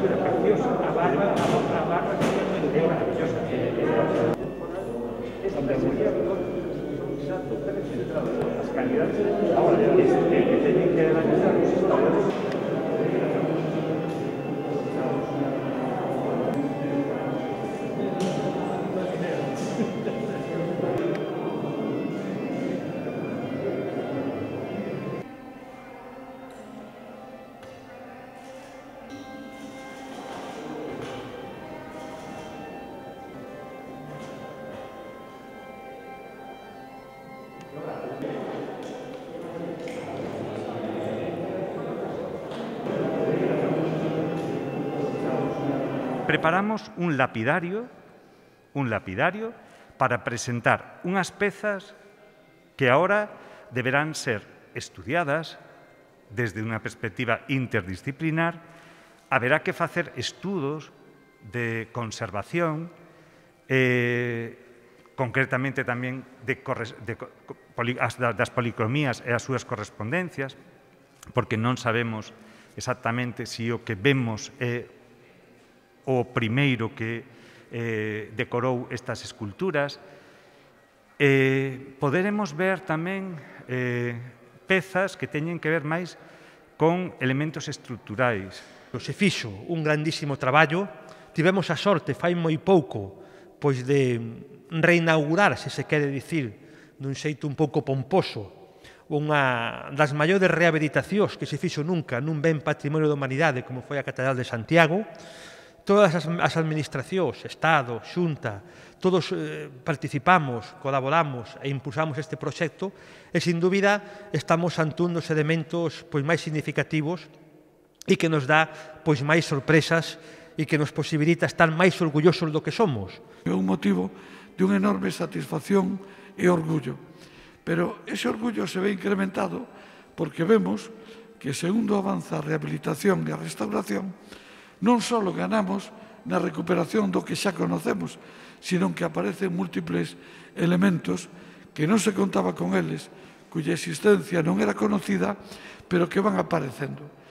escultura preciosa, a barra é maravillosa. As calidades que teñen que analizar os historiadores. Preparamos un lapidario para presentar unhas pezas que ahora deberán ser estudiadas desde unha perspectiva interdisciplinar. Haberá que facer estudos de conservación, concretamente tamén das policromías e as súas correspondencias, porque non sabemos exactamente se o que vemos é o primeiro que decorou estas esculturas. Poderemos ver tamén pezas que teñen que ver máis con elementos estruturais. Se fixo un grandísimo traballo, tivemos a sorte fai moi pouco pois de reinaugurar, se se quere dicir, dun xeito un pouco pomposo, unha das maiores rehabilitacións que se fixo nunca nun ben patrimonio da humanidade como foi a Catedral de Santiago. Todas as administracións, Estado, Xunta, todos participamos, colaboramos e impulsamos este proxecto e, sin dúbida, estamos ante un dos elementos máis significativos e que nos dá máis sorpresas e que nos posibilita estar máis orgullosos do que somos. É un motivo de unha enorme satisfacción e orgullo, pero ese orgullo se ve incrementado porque vemos que, segundo avanza a rehabilitación e a restauración, non só ganamos na recuperación do que xa conocemos, sino que aparecen múltiples elementos que non se contaba con eles, cuya existencia non era conocida, pero que van aparecendo.